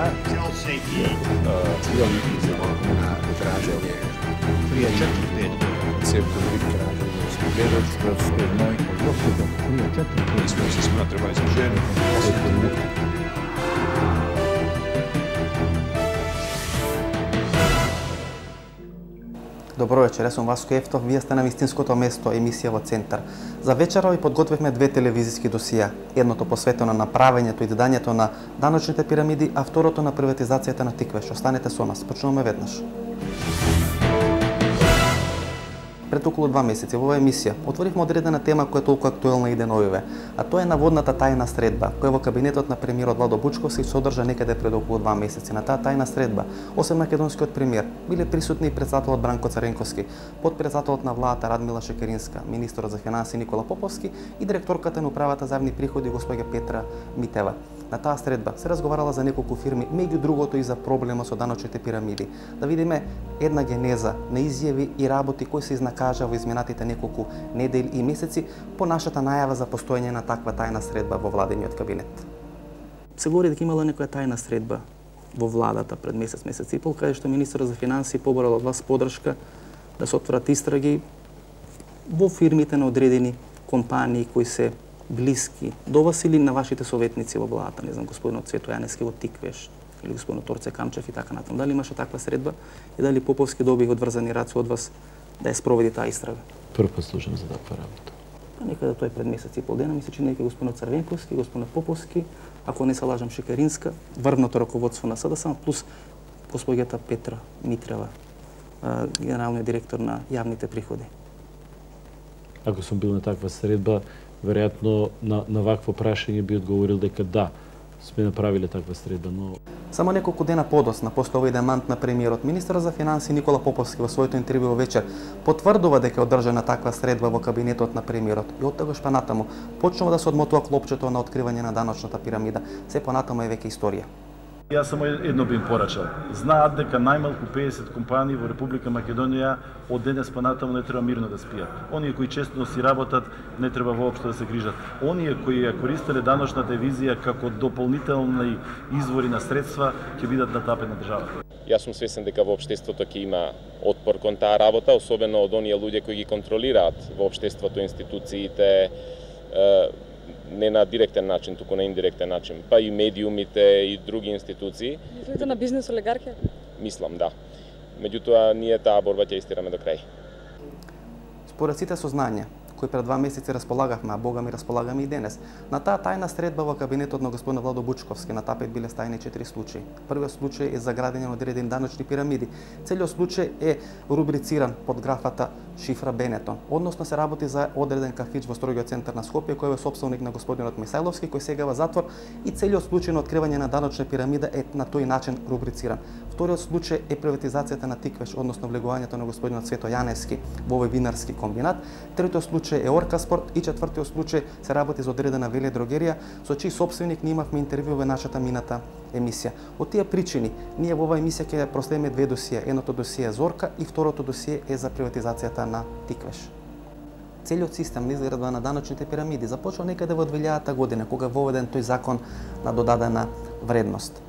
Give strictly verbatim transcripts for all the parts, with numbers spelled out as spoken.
Cijeli idemo na traženje prije četiri pet ceptovih traženja svjedočstva moj gospodom prije četiri pet smo se smatrali za ženu. Добро вечер, јас сум Васко Ефтов, вие сте на вистинското место, емисија во Центар. За вечера ви подготвивме две телевизиски досија. Едното посветено на правењето и издањето на даночните пирамиди, а второто на приватизацијата на Тиквеш. Останете со нас, почнуваме веднаш. Пред околу два месеци во оваа емисија отворивме одредена тема која е толку актуелна и деновиве, а тоа е наводната тајна средба, која во кабинетот на премиерот Владо Бучковски се одржа некаде пред околу два месеци. На таа тајна средба, осем македонскиот премиер, биле присутни и претседателот Бранко Царенковски, потпредседателот на владата Радмила Шекеринска, министерот за финансии Никола Поповски и директорката на управата за јавни приходи госпоѓа Петра Митева. На таа средба се разговарала за неколку фирми, меѓу другото и за проблемот со даночните пирамиди. Да видиме една генеза на изјави и работи кои се изнакажа во изминатите неколку недели и месеци по нашата најава за постоење на таква тајна средба во владениот кабинет. Се говори дека имала некоја тајна средба во владата пред месец, месец и пол, каде што министерот за финансии поборал од вас поддршка да се отворат истраги во фирмите на одредени компании кои се блиски до вас или на вашите советници во владата, не знам, господинот Цвето Јаневски во Тиквеш или господинот Торце Камчев и така натаму. Дали имаше таква средба и дали Поповски доби одврзани раци од вас да ја спроведи таа истрага? Прв пат слушам за таква работа. Па некаде тој пред месец и пол дена, ми се чини дека господинот Црвенковски, господинот Поповски, ако не се лажам Шекеринска, врвното раководство на СДСМ, плюс госпоѓата Петра Митрева, генералниот директор на јавните приходи. Ако сум бил на таква средба, веројатно на, на вакво прашање би одговорил дека да, сме направиле таква средба, но... Само неколку дена подосна, после овој демант на премиерот, министерот за финансии Никола Поповски во своето интервју во вечер потврдува дека е одржана таква средба во кабинетот на премиерот и од тогаш па натаму почнува да се одмотува клопчето на откривање на даночната пирамида. Се понатаму е веќе историја. Јас само едно би им порачал. Знаат дека најмалку педесет компании во Република Македонија од денес понатаму не треба мирно да спијат. Оние кои честно си работат, не треба воопшто да се грижат. Оние кои ја користеле даночната визија како дополнителни извори на средства, ќе бидат на тапет на државата. Јас сум свесен дека во општеството ќе има отпор кон таа работа, особено од оние луѓе кои ги контролираат во општеството институциите, не на директен начин, туку на индиректен начин, па и медиумите и други институции. Мислите на бизнес олигархија? Мислам, да. Меѓутоа, ние таа борба ќе истираме до крај. Според сите сознанија кои пред два месеци располагавме, а Бога ми располагаме и денес, на таа тајна средба во кабинетот на господин Владо Бучковски на тапет биле ставени четири случаи. Првиот случај е за градење на одредени даночни пирамиди. Целиот случај е рубрициран под графата Шифра Бенетон. Односно се работи за одреден кафич во строгиот центар на Скопје кој е собственик на господинот Мисајловски, кој сега во затвор, и целиот случај на откривање на даночна пирамида е на тој начин рубрициран. Вториот случај е приватизацијата на Тиквеш, односно влегувањето на господинот Цвето Јаневски во овој винарски комбинат. Третиот случај е Оркаспорт и четвртиот случај се работи за одредена веледрогерија со чиј собственик ние имавме интервју во нашата мината емисија. Од тие причини ние во оваа емисија ќе проследиме две досија. Едното досие е Зорка и второто досие е за приватизацијата на Тиквеш. Целиот систем на изградба на даночните пирамиди започна некаде во две илјадата година, кога воведен тој закон на додадена вредност.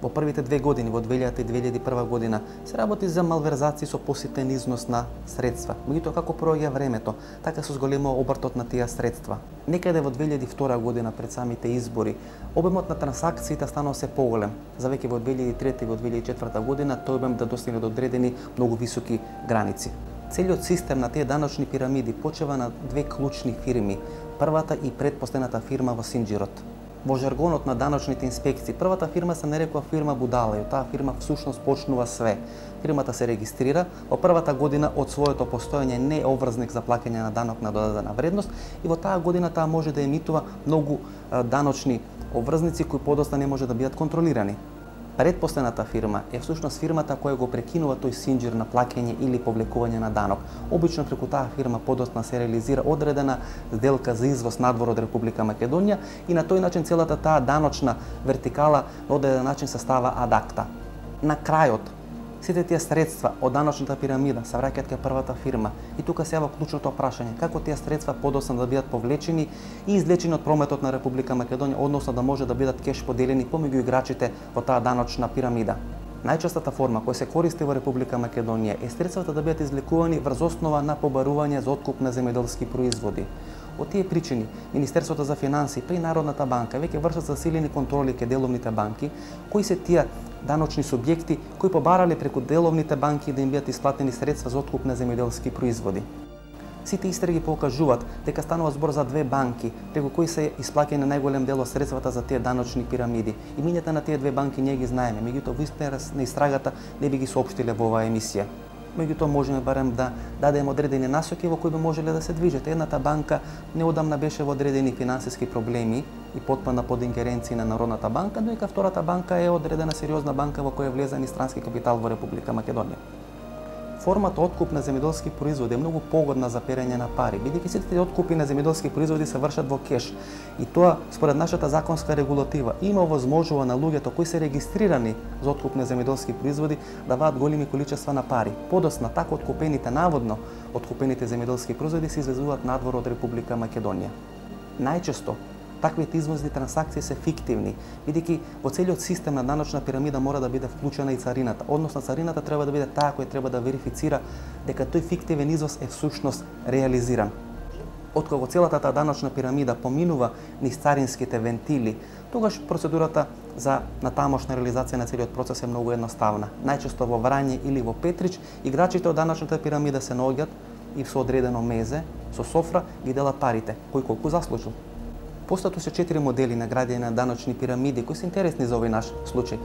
Во првите две години, во две илјадата и две илјади и прва година, се работи за малверзации со поситен износ на средства. Меѓутоа, како проаѓа времето, така се зголема обртот на тие средства. Некаде во две илјади и втора година, пред самите избори, обемот на трансакциите станал се поголем. За веќе во две илјади и трета и во две илјади и четврта година, тој обем да достигне до одредени многу високи граници. Целиот систем на тие даночни пирамиди почива на две клучни фирми, првата и предпоследната фирма во Синџирот. Во жаргонот на даночните инспекции, првата фирма се нарекува фирма Будала и таа фирма всушност почнува све. Фирмата се регистрира, во првата година од своето постоење не е обврзник за плаќање на данок на додадена вредност и во таа година таа може да емитува многу даночни обврзници кои подоста не може да бидат контролирани. Предпоследната фирма е всушност фирмата која го прекинува тој синџир на плаќање или повлекување на данок. Обично преку таа фирма подоцна се реализира одредена сделка за извоз надвор од Република Македонија и на тој начин целата таа даночна вертикала на одреден начин се става ад акта. На крајот Сите тие средства од даночната пирамида се враќаат кај првата фирма и тука се јава клучното прашање како тие средства подоцна да бидат повлечени и извлечени од прометот на Република Македонија, односно да може да бидат кеш поделени помеѓу играчите во таа даночна пирамида. Најчестата форма која се користи во Република Македонија е средствата да бидат извлекувани врз основа на побарување за откуп на земјоделски производи. Од тие причини, Министерството за финансии при Народната банка веќе вршат засилени контроли кај деловните банки, кои се тие даночни субјекти кои побарале преку деловните банки да им бидат исплатени средства за откуп на земјоделски производи. Сите истраги покажуваат дека станува збор за две банки преку кои се исплаќани најголем дел од средствата за тие даночни пирамиди. Имињата на тие две банки ние ги знаеме, меѓутоа во истина на истрагата не би ги соопштиле во оваа емисија. Меѓутоа можеме барем да дадеме одредени насоки во кои би можеле да се движат. Едната банка неодамна беше во одредени финансиски проблеми и потпадна под ингеренции на Народната банка, додека втората банка е одредена сериозна банка во која влезен и странски капитал во Република Македонија. Формата откуп на земјоделски производи е многу погодна за перење на пари, бидејќи сите тие откупи на земјоделски производи се вршат во кеш. И тоа, според нашата законска регулатива, има овозможува на луѓето кои се регистрирани за откуп на земјоделски производи да ваат големи количества на пари. Подоцна така откупените наводно откупените земјоделски производи се извезуваат надвор од Република Македонија. Најчесто таквите извозни трансакции се фиктивни, бидејќи во целиот систем на даночна пирамида мора да биде вклучена и царината, односно царината треба да биде таа која треба да верифицира дека тој фиктивен извоз е всушност реализиран. Откако целата таа даночна пирамида поминува низ царинските вентили, тогаш процедурата за натамошна реализација на целиот процес е многу едноставна. Најчесто во Врање или во Петрич, играчите од даночната пирамида се наоѓаат и со одредено мезе, со софра ги делат парите, кој колку заслужил. Постојат уште четири модели на градење на даночни пирамиди кои се интересни за овој наш случај.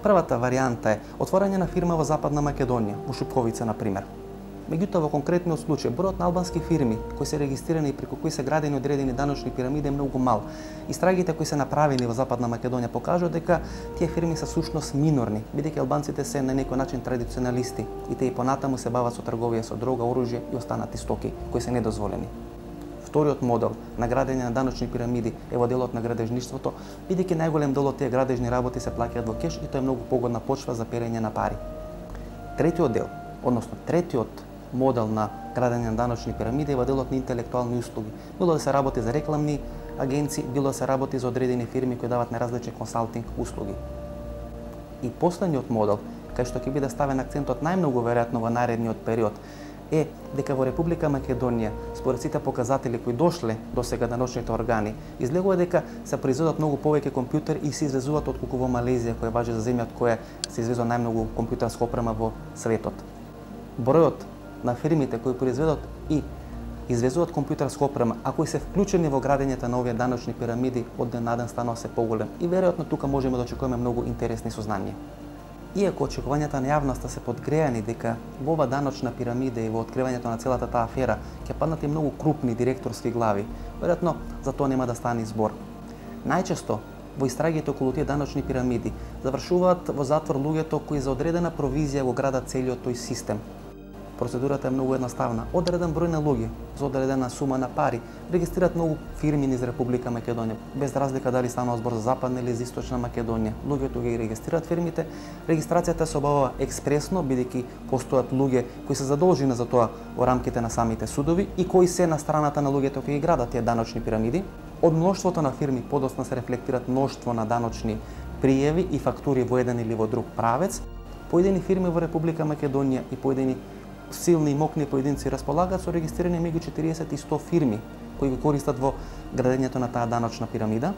Првата варијанта е отворање на фирма во Западна Македонија, во Шупковица на пример. Меѓутоа во конкретниот случај бројот на албански фирми кои се регистрирани и преку кои се градени одредени даночни пирамиди е многу мал. Истрагите кои се направени во Западна Македонија покажуваат дека тие фирми се сушност минорни, бидејќи албанците се на некој начин традиционалисти и тие и понатаму се бават со трговија со дрога, оружје и останати стоки кои се недозволени. Вториот модел на градење на даночни пирамиди е во делот на градежништвото, бидејќи најголем дел од тие градежни работи се плаќаат во кеш и тоа е многу погодна почва за перење на пари. Третиот дел, односно третиот модел на градење на даночни пирамиди е во делот на интелектуални услуги. Било да се работи за рекламни агенции, било да се работи за одредени фирми кои дават наразлични консалтинг услуги. И последниот модел, кај што ќе биде ставен акцентот најмногу веројатно во наредниот период, е дека во Република Македонија, според сите показатели кои дошле до сега даночните органи, излегува дека се произведуваат многу повеќе компјутери и се извезуваат отколку во Малезија, која важи за земја од која се извезува најмногу компјутерска опрема во светот. Бројот на фирмите кои произведуваат и извезуваат компјутерска опрема, а кои се вклучени во градењето на овие даночни пирамиди, од ден на ден станува се поголем и веројатно тука можеме да очекуваме многу интересни сознанија. Иако очекувањата на јавноста се подгреани дека во ова даночна пирамида и во откривањето на целата таа афера ќе паднат и многу крупни директорски глави, веројатно за тоа нема да стане збор. Најчесто во истрагите околу тие даночни пирамиди завршуваат во затвор луѓето кои за одредена провизија го градат целиот тој систем. Процедурата е многу едноставна. Одреден број на луѓе за одредена сума на пари регистрираат многу фирми низ Република Македонија, без разлика дали станува збор за Западна или за Источна Македонија. Луѓето ги регистрираат фирмите, регистрацијата се обавува експресно, бидејќи постојат луѓе кои се задолжени за тоа во рамките на самите судови и кои се на страната на луѓето кои ги градат тие даночни пирамиди. Од мноштвото на фирми подоцна се рефлектираат мноштво на даночни пријави и фактури во еден или во друг правец. Поедини фирми во Република Македонија и поедини силни и мокни поединци располагаат со регистрирани меѓу четириесет и сто фирми кои ги користат во градењето на таа даночна пирамида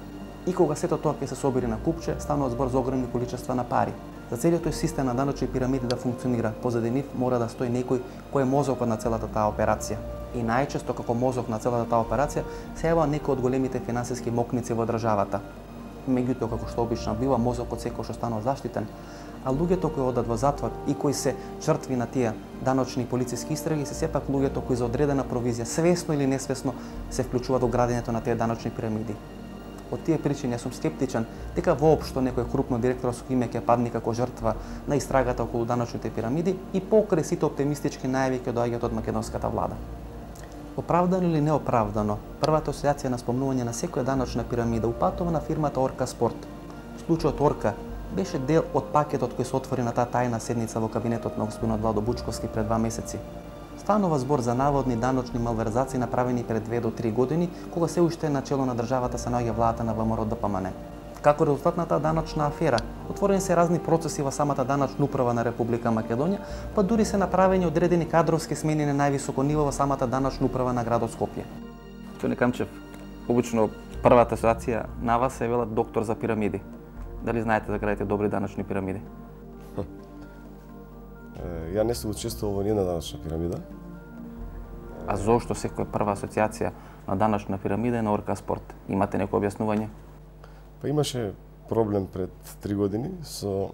и кога сето тоа ќе се собери на купче, станува збор за огромни количества на пари. За целиот тој систем на даночни пирамиди да функционира, позади нив мора да стои некој кој е мозокот на целата таа операција. И најчесто како мозок на целата таа операција се јавува некој од големите финансиски мокници во државата. Меѓутоа, како што обично бива, мозокот секој што станува заштитен, а луѓето кои одат во затвор и кои се жртви на тие даночни и полициски истраги се сепак луѓето кои за одредена провизија, свесно или несвесно, се вклучуваат во градењето на тие даночни пирамиди. Од тие причини јас сум скептичен дека воопшто некој крупно директорско име ќе падне како жртва на истрагата околу даночните пирамиди и покрај сите оптимистички најави ќе доаѓаат од македонската влада. Оправдано или неоправдано, првата асоциација на спомнување на секоја даночна пирамида упатува на фирмата Орка Спорт. Случајот Орка беше дел од пакетот кој се отвори на таа тајна седница во кабинетот на господинот Владо Бучковски пред два месеци. Станува збор за наводни даночни малверзации направени пред две до три години, кога се уште на чело на државата се наоѓа владата на ВМРО Д П М Н. Како резултат на таа даночна афера, отворени се разни процеси во самата даночна управа на Република Македонија, па дури се направени одредени кадровски смени на највисоко ниво во самата даночна управа на градот Скопје. Тони Камчев, обично првата асоциација на вас се велат доктор за пирамиди. Дали знаете да градите добри даночни пирамиди? Ја не сум учествувал во ниедна даночна пирамида. А зошто секоја прва асоциација на даночна пирамида е на Орка Спорт? Имате некој објаснување? Па имаше проблем пред три години со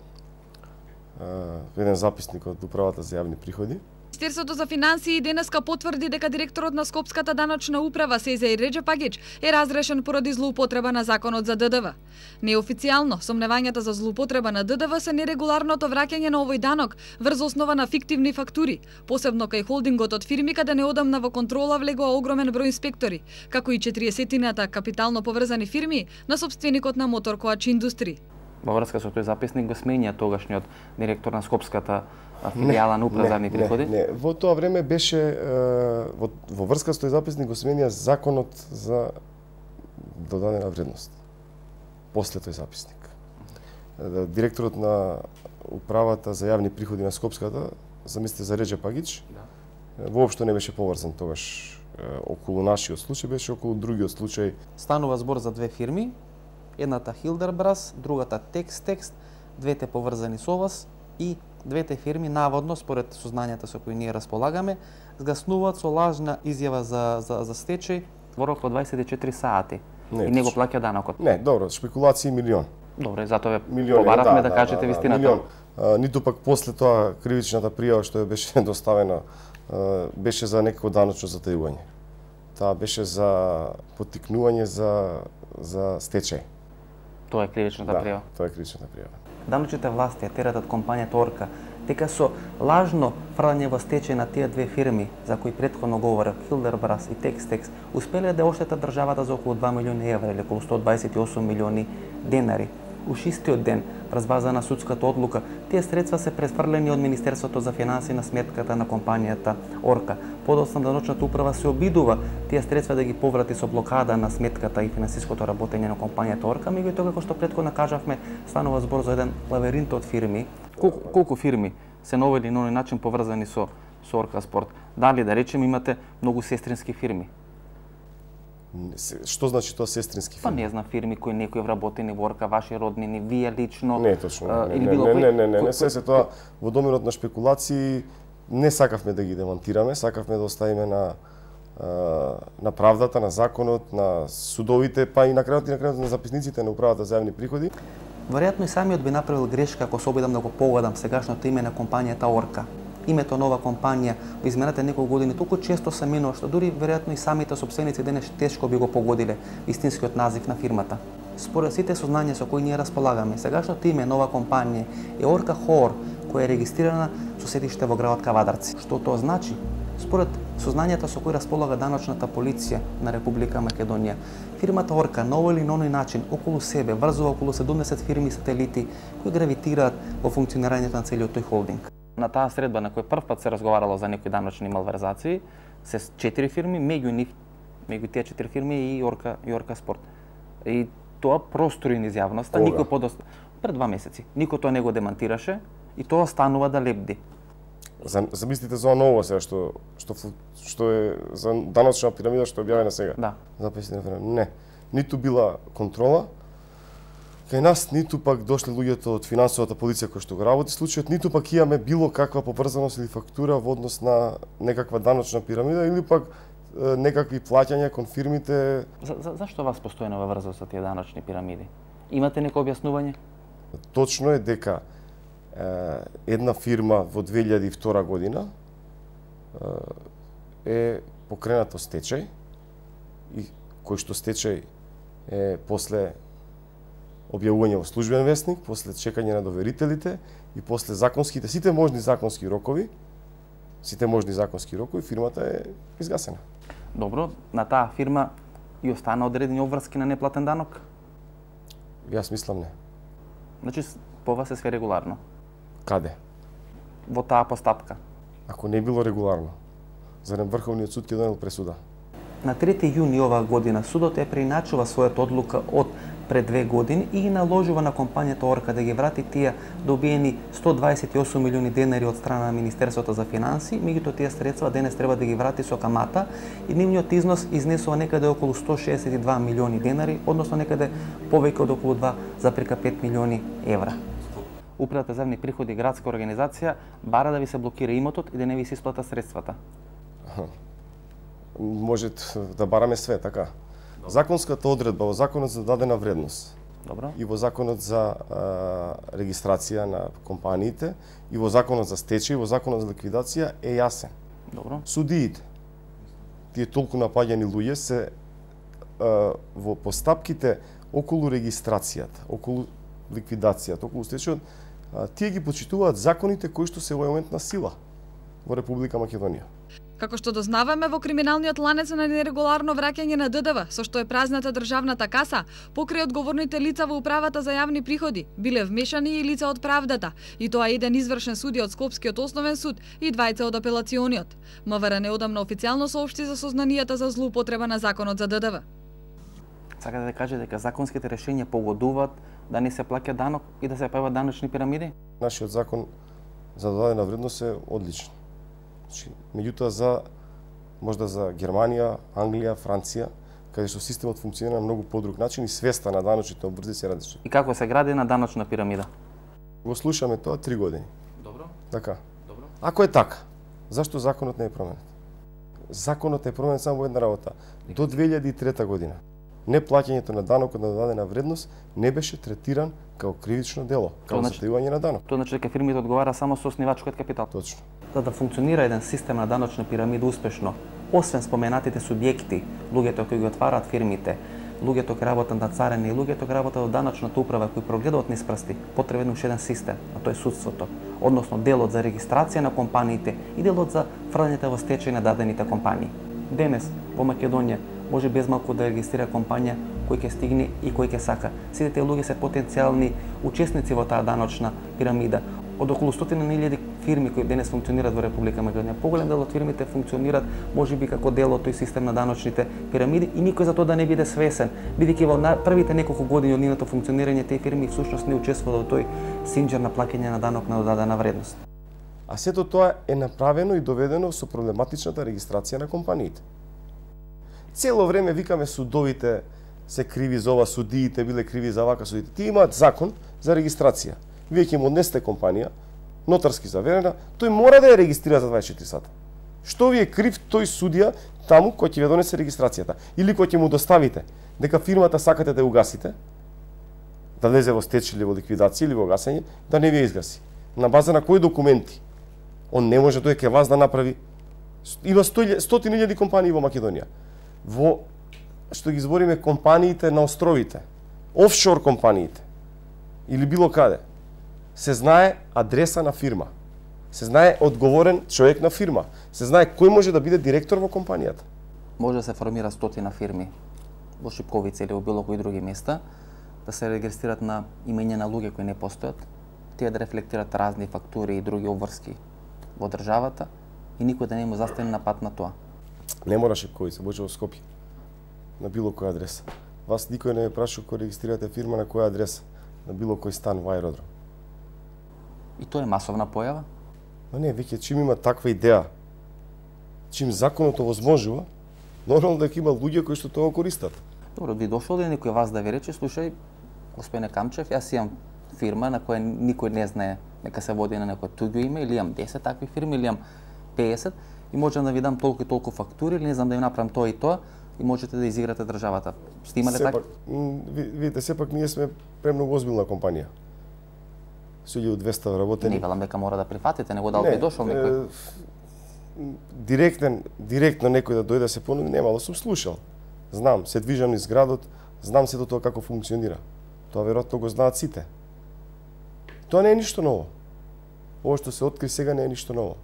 а, еден записник од Управата за јавни приходи. Министерството за финансии денеска потврди дека директорот на Скопската даночна управа Сезеј Реџепагич е разрешен поради злоупотреба на законот за Д Д В. Неофицијално, сомневањата за злоупотреба на Д Д В се нерегуларното враќање на овој данок врз основа на фиктивни фактури, посебно кај холдингот од фирми каде неодамна во контрола влегоа огромен број инспектори, како и четиристотината капитално поврзани фирми на сопственикот на Мотор Коач Индустри. Во врска со тој записник го сменија тогашниот директор на Скопската филијала на управа за јавни приходи? Не, не, во тоа време беше во, во врска со тој записник го сменија законот за додадена вредност. После тој записник. Директорот на управата за јавни приходи на Скопската, замислите за Реџепагич, да. Воопшто не беше поврзан тогаш околу нашиот случај, беше околу другиот случај. Станува збор за две фирми, едната Хилдербрас, другата Текстекст, двете поврзани со вас и двете фирми наводно, според сознанијата со кои ние располагаме, згаснуваат со лажна изјава за, за, за стечај во рок од дваесет и четири сати не, и не го плаќа данокот. Не, добро, шпекулации милион. Добре, затоа ве Милиони, побаравме да, да, да кажете да, вистината. Милион. А, ниту пак после тоа кривичната пријава што ја беше доставена а, беше за некако даночно затајување. Таа беше за поттикнување за за стечај. Тоа е кривичната да, пријава. Тоа е кривичната пријава. Даночните власти ја тератат компанијата Орка, дека со лажно фрлање во стечај на тие две фирми, за кои претходно говорев, Хилдербрас и Текстекс, успеле да оштетат државата за околу два милиони евра или околу сто дваесет и осум милиони денари. Уш истиот ден, врз база на судската одлука, тие средства се пресфрлени од Министерството за финансии на сметката на компанијата Орка. Подоцна даночната управа се обидува тие средства да ги поврати со блокада на сметката и финансиското работење на компанијата Орка, меѓутоа како што претходно кажавме, станува збор за еден лавиринт од фирми. Колку, колку фирми се на овој или на оној начин поврзани со со Орка Спорт? Дали да речем имате многу сестрински фирми? Што значи тоа сестрински Па фирми? не знам, фирми кои некои вработени во Орка, ваши роднини, вие лично. Не, точно. а, Не, или не, било не, кој- не, не, не, кој- не, се се тоа во домирот на шпекулации не сакавме да ги демонтираме, сакавме да оставиме на а, на правдата, на законот, на судовите, па и на крајот и на крајот на записниците на управата за јавни приходи. Веројатно и самиот би направил грешка ако се обидам да го погодам сегашното име на компанијата Орка. Името нова компанија во изминалите неколку години толку често се менува што дури веројатно и самите сопственици денес тешко би го погодиле истинскиот назив на фирмата. Според сите сознања со кои ние располагаме, сегашното име нова компанија е Орка Хоор, која е регистрирана со седиште во градот Кавадарци. Што тоа значи? Според сознањата со кои располага даночната полиција на Република Македонија, фирмата Орка на овој или на оној начин околу себе врзува околу седумдесет фирми сателити кои гравитираат во функционирањето на целиот тој холдинг. На таа средба на кој првпат се разговарало за некои даночни малверзации, се четири фирми, меѓу нив, меѓу тие четири фирми и Орка и Орка Спорт. И тоа простори низ јавноста, Кога? никој подост пред два месеци. Никој тоа не го демантираше и тоа станува да лебди. За, замислите за ново сега што што фу- што е за даночна пирамида што е објавена сега. Да. Записите на фирма. Не. Ниту била контрола кај нас, ниту пак дошле луѓето од финансовата полиција кои што го работи случајот, ниту пак имаме било каква поврзаност или фактура во однос на некаква даночна пирамида или пак е, некакви плаќања кон фирмите. За, за, зашто вас постојано ве врзува со тие даночни пирамиди? Имате некој објаснување? Точно е дека е, една фирма во две илјади и втора година е, е покренато стечај и кој што стечај е после објавување во службен весник, после чекање на доверителите и после законските, сите можни законски рокови, сите можни законски рокови, фирмата е изгасена. Добро, на таа фирма и остана одредени обврски на неплатен данок? Јас мислам не. Значи, с- по вас е све регуларно. Каде? Во таа постапка. Ако не било регуларно, зарем Врховниот суд ќе донел пресуда? На трети јуни оваа година судот ја преиначува својата одлука од пред две години и ги наложува на компанијата Орка да ги врати тие добиени сто дваесет и осум милиони денари од страна на Министерството за финансии, меѓутоа тие средства денес треба да ги врати со камата и нивниот износ изнесува некаде околу сто шеесет и два милиони денари, односно некаде повеќе од околу два зарез пет милиони евра. Управата за земни приходи градска организација бара да ви се блокира имотот и да не ви се исплата средствата. Може да бараме све, така. Законската одредба во Законот за дадена вредност. Добро. И во Законот за а, регистрација на компаниите, и во Законот за стечај, и во Законот за ликвидација е јасен. Добро. Судиите, тие толку напаѓани луѓе се а, во постапките околу регистрацијата, околу ликвидацијата, околу стечајот, тие ги почитуваат законите кои што се во момент на сила во Република Македонија. Како што дознаваме, во криминалниот ланец на нерегуларно враќање на ДДВ, со што е празната државната каса, покрај одговорните лица во управата за јавни приходи, биле вмешани и лица од правдата, и тоа еден извршен судија од Скопскиот основен суд и двајца од апелациониот. МВР неодамна официјално соопшти за сознанијата за злоупотреба на Законот за ДДВ. Сакате да кажете дека законските решенија погодуваат да не се плаќа данок и да се прават даночни пирамиди? Нашиот закон за додадена вредност е одличен. Меѓутоа за можда за Германија, Англија, Франција, каде што системот функционира на многу подруг начин и свеста на даночните обврзи се различни. И како се гради на даночна пирамида? Го слушаме тоа три години. Добро. Така. Добро. Ако е така, зашто законот не е променет? Законот е променет само во една работа. До две илјади и трета година неплаќањето на данокот на додадена вредност не беше третиран како кривично дело, како значи, затајување на данок. Тоа значи дека фирмите одговара само со основачкиот капитал. Точно. За да функционира еден систем на даночна пирамида успешно, освен споменатите субјекти, луѓето кои ги отвараат фирмите, луѓето кои работат на царина и луѓето кои работат во даночната управа кои прогледуваат низ прсти, потребен уште еден систем, а тоа е судството, односно делот за регистрација на компаниите и делот за фрлањето во стечај на дадените компании. Денес во Македонија може без малку да регистрира компанија кој ќе стигне и кој ќе сака. Сите тие луѓе се потенцијални учесници во таа даночна пирамида. Од околу стотина илјади фирми кои денес функционираат во Република Македонија, поголем дел од фирмите функционираат можеби како дел од тој систем на даночните пирамиди и никој за тоа да не биде свесен, бидејќи во првите неколку години од нивното функционирање тие фирми всушност не учествуваат во тој синџер на плаќање на данок на додадена вредност. А сето тоа е направено и доведено со проблематичната регистрација на компаниите. Цело време викаме судовите се криви за ова, судиите биле криви за вака, судиите. Тие имаат закон за регистрација. Вие ќе му однесете компанија, нотарски заверена, тој мора да ја регистрира за дваесет и четири сата. Што ви е крив тој судија таму кој ќе ви донесе регистрацијата? Или кој ќе му доставите дека фирмата сакате да ја угасите, да лезе во стечај или во ликвидација или во гасење, да не ви ја изгаси. На база на кои документи? Он не може тој ке вас да направи. Има стотини илјади компании во Македонија. Во што ги збориме компаниите на островите, офшор компаниите или било каде, се знае адреса на фирма, се знае одговорен човек на фирма, се знае кој може да биде директор во компанијата. Може да се формира стотина фирми во Шипковица или во било кои други места, да се регистрират на имења на луѓе кои не постојат, тие да рефлектират разни фактури и други обврски во државата и никој да не му застане на пат на тоа. Не мора Шипковица, може во Скопје, на било која адреса. Вас никој не ме праша кога регистрирате фирма на која адреса, на било кој стан во аеродром. И тоа е масовна појава? Но не, веќе чим има таква идеја, чим законот овозможува, нормално дека има луѓе кои што тоа користат. Добро, ви дошол ли некој вас да ви рече, слушај, господине Камчев, јас имам фирма на која никој не знае нека се води на некој туѓо име, или имам десет такви фирми, или имам пеесет, и можам да ви дам толку и толку фактури, или не знам да ви направам тоа и тоа, и можете да изиграте државата. Сте имале така? Видите, сепак ние сме премногу озбилна компанија. Со илјада и двесте работени. Не велам дека мора да прифатите, него дал би дошол некој. Директен, директно некој да дојде да се понуди, немало сум слушал. Знам, се движам низ градот, знам сето тоа како функционира. Тоа веројатно го знаат сите. Тоа не е ништо ново. Ова што се откри сега не е ништо ново.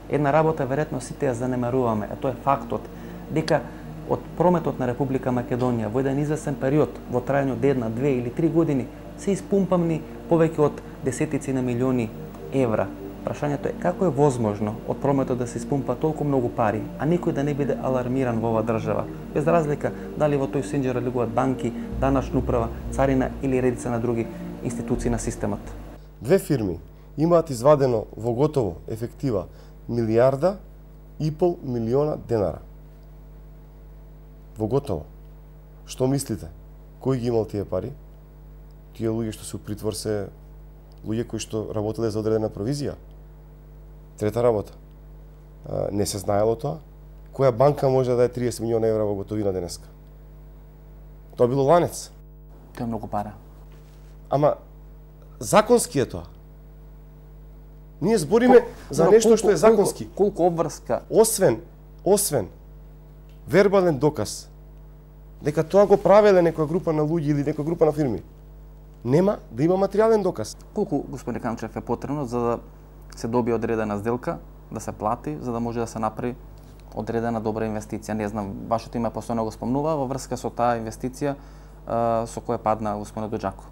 Една работа веројатно сите ја занемаруваме, а тоа е фактот дека од прометот на Република Македонија во еден известен период, во трајање од една, две или три години, се испумпамни повеќе од десетици на милиони евра. Прашањето е како е возможно од прометот да се испумпа толку многу пари, а никој да не биде алармиран во оваа држава, без разлика дали во тој сенџер легуваат банки, даначна управа, царина или редица на други институции на системот. Две фирми имаат извадено во готово ефектива милијарда и пол милиона денара. Во готово. Што мислите? Кој ги имал тие пари? Тие луѓе што се у притвор се луѓе кои што работеле за одредена провизија. Трета работа. Не се знаело тоа. Која банка може да даде триесет милиона евра во готовина денеска? Тоа било ланец. Тоа е многу пара. Ама законски е тоа. Ние збориме за нешто што е законски. Колку, колку обврска? Освен, освен вербален доказ дека тоа го правеле некоја група на луѓе или некоја група на фирми, нема да има материјален доказ. Колку, господин Камчев, е потребно за да се добие одредена сделка, да се плати, за да може да се направи одредена добра инвестиција? Не знам, вашето име постојано го спомнува во врска со таа инвестиција со која падна господин Доџако.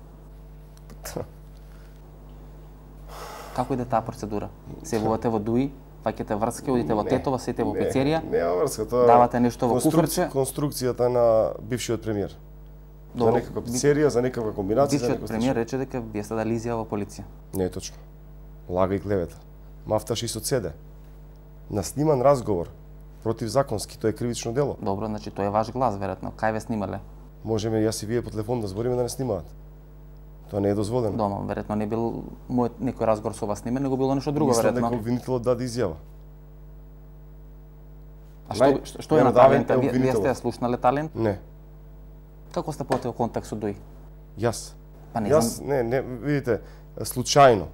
Како иде таа процедура? Се вовате во ДУИ, паќате врски, одите во Тетова, сете во пицерија, Не, не врска, тоа давате нешто во куфрче. Конструкцијата на бившиот премиер. За некаква пицерија, за некаква комбинација, за Бившиот некој премиер рече дека вие сте дали изјава во полиција. Не е точно. Лага и клевета. Мафташ и соцеде. На сниман разговор противзаконски, тоа е кривично дело. Добро, значи тоа е ваш глас, веројатно. Кај ве снимале? Можеме јас и вие по телефон да збориме да не снимаат. Тоа не е дозволено. Дома, веројатно не бил мојот некој разговор со вас снимен, него било нешто друго, Мислам веројатно. дека обвинителот даде изјава. А што, Нај- што, што е на меродавен талент? е Вие, вие обвинителот. сте ја слушнале талент? Не, Како сте потео контакт со ДУИ? јас. Па не Јас, знам, не, не, видите, случајно.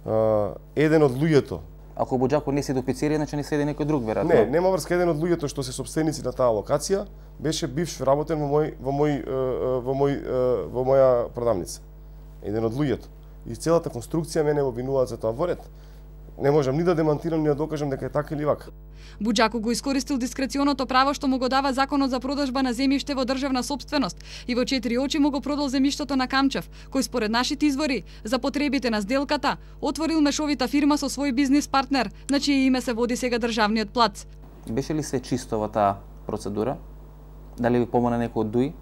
А, еден од луѓето, ако Буџако не седи до пицерија, значи не седи некој друг, веројатно. не, нема врска, еден од луѓето што се собственици на таа локација, беше бивш работен во мој во мој е, е, во мој е, во моја продавница. Еден од луѓето. И целата конструкција мене обвинуваат за тоа во ред. Не можам ни да демантирам, ни да докажам дека е така или вака. Буџако го искористил дискреционото право што му го дава законот за продажба на земјиште во државна сопственост и во четири очи му го продал земјиштето на Камчев, кој според нашите извори за потребите на сделката отворил мешовита фирма со свој бизнис партнер, на чие име се води сега државниот плац. Беше ли све чисто во таа процедура? Дали ви помогна некој од ДУИ?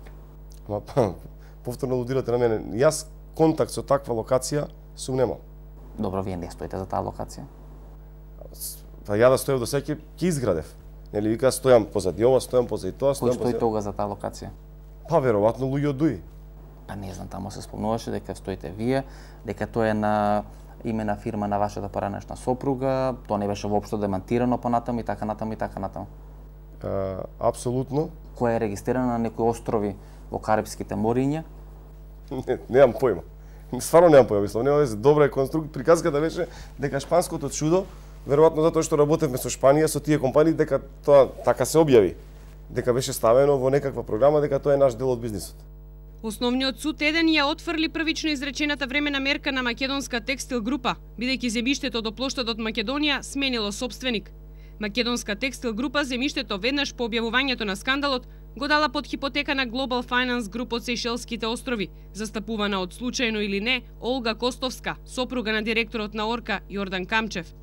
Ама па, повторно алудирате на мене. Јас контакт со таква локација сум немал. Добро, вие не стоите за таа локација. Па ја да стоев до сега ќе изградев. Нели вика стојам позади ова, стојам позади тоа, Кој стојам стои позади. тога за таа локација? Па веројатно луѓе од ДУИ. Па не знам, таму се спомнуваше дека стоите вие, дека тоа е на име на фирма на вашата поранешна сопруга, тоа не беше воопшто демантирано понатаму и така натаму и така натаму. А, апсолутно. Која е регистрирана на некои острови во Карипските мориња. Не, немам појма. Стварно немам појма, мислам, нема веќе добра е конструкција. Приказката беше дека шпанското чудо, веројатно затоа што работевме со Шпанија, со тие компании, дека тоа така се објави. Дека беше ставено во некаква програма, дека тоа е наш дел од бизнисот. Основниот суд еден ја отфрли првично изречената времена мерка на Македонска текстил група, бидејќи земјиштето до плоштадот Македонија сменило собственик. Македонска текстил група земјиштето веднаш по објавувањето на скандалот го дала под хипотека на Global Finance Group од Сејшелските острови, застапувана од случајно или не Олга Костовска, сопруга на директорот на Орка Јордан Камчев.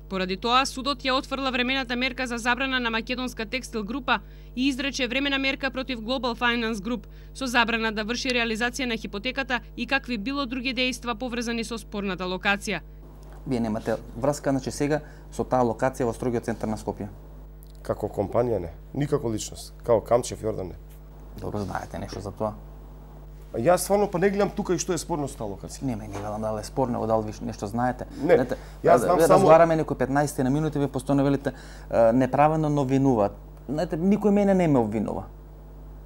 Поради тоа, судот ја отфрла времената мерка за забрана на Македонска текстил група и изрече времена мерка против Global Finance Group со забрана да врши реализација на хипотеката и какви било други дејства поврзани со спорната локација. Вие немате врска, значи сега со таа локација во строгиот центар на Скопје. Како компанија не, никако личност, као Камчев Јордан не. Добро знаете нешто за тоа. А јас стварно па не гледам тука и што е спорно со таа локација. Не, ме не велам дали е спорно, дали ви нешто знаете. Не, Знаете, јас знам вие само- разговараме некои петнаесет на минути, вие постојано велите е, неправедно но винуваат. Знаете, никој мене не ме обвинува.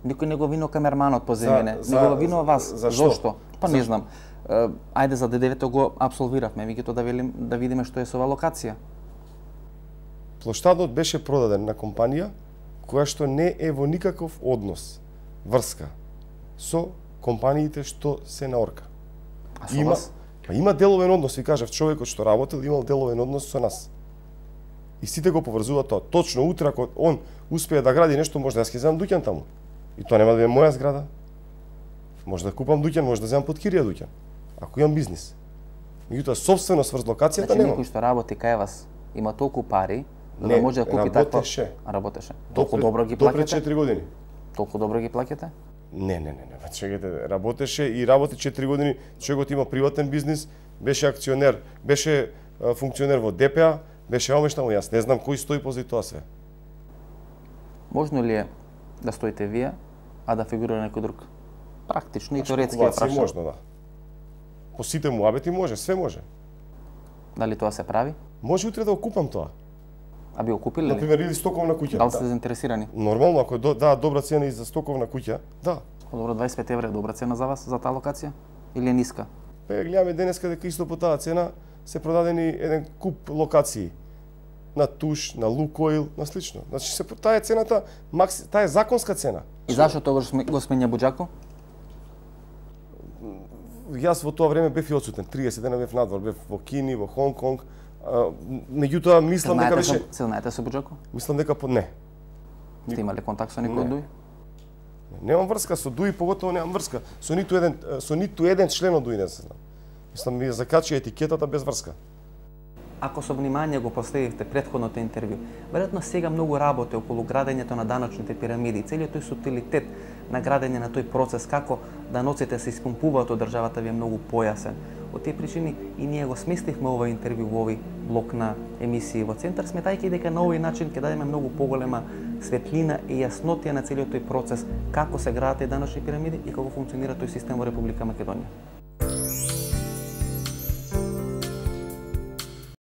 Никој не го обвинува камерманот по мене, не за- го обвинува вас. за што? Зошто? Па не знам. Е, ајде за ДДВ-то го апсолвиравме, меѓутоа да велим да видиме што е со оваа локација. Плоштадот беше продаден на компанија која што не е во никаков однос, врска со компаниите што се на Орка. А со Има, вас? па има деловен однос, ви кажав, човекот што работел имал деловен однос со нас. И сите го поврзуваат тоа. Точно утре ако он успее да гради нешто, може да јас ќе земам дуќан таму. И тоа нема да е моја зграда. Може да купам дуќан, може да земам под кирија дуќан. Ако имам бизнис. Меѓутоа собственост врз локацијата Значи немам. некој што работи кај вас има толку пари за Не, да може да купи таква. работеше. Работеше. Толку Допред- добро ги Допред плаќате? четири години. Толку добро ги плаќате? Не, не, не, не. Чекайте, работеше и работи четири години, човекот има приватен бизнис, беше акционер, беше а, функционер во Д П А, беше омештамо, јас не знам кој стои позади тоа све. Можно ли е да стоите вие, а да фигурира некој друг? Практично и Значи, теоретски ја калкулации прашам. можно, да. По сите муабети може, све може. Дали тоа се прави? Може утре да го купам тоа. А би го купиле ли? Например, или стоковна куќа. Дали сте Да. заинтересирани? Нормално, ако до, да, добра цена и за стоковна куќа, да. Добро, дваесет и пет евра е добра цена за вас, за таа локација? Или е ниска? Пе, гледаме денеска дека исто по таа цена се продадени еден куп локации. На Туш, на Лукоил, на слично. Значи, се, таа е цената, макс, таа е законска цена. И зашто тогаш сме- го сменја Буџако? Јас во тоа време бев и одсутен. триесет дена бев надвор, бев во Кини, во Хонг Конг. А, меѓутоа мислам дека Знаете со, беше, се знаете со Буџако? мислам дека по не. Сте имале контакт со некој Не. од Дуј? Немам врска со Дуи, поготово немам врска со ниту еден со ниту еден член од Дуи не се знам. Мислам ми ја закачи етикетата без врска. Ако со внимание го последивте претходното интервју, веројатно сега многу работи околу градењето на даночните пирамиди, целиот тој сутилитет на градење на тој процес, како даноците се испумпуваат од државата ви е многу појасен. Од тие причини и ние го сместивме ова интервју во овој блок на емисии во Центар, сметајќи дека на овој начин ќе дадеме многу поголема светлина и јаснотија на целиот тој процес, како се градат и даночни пирамиди и како функционира тој систем во Република Македонија.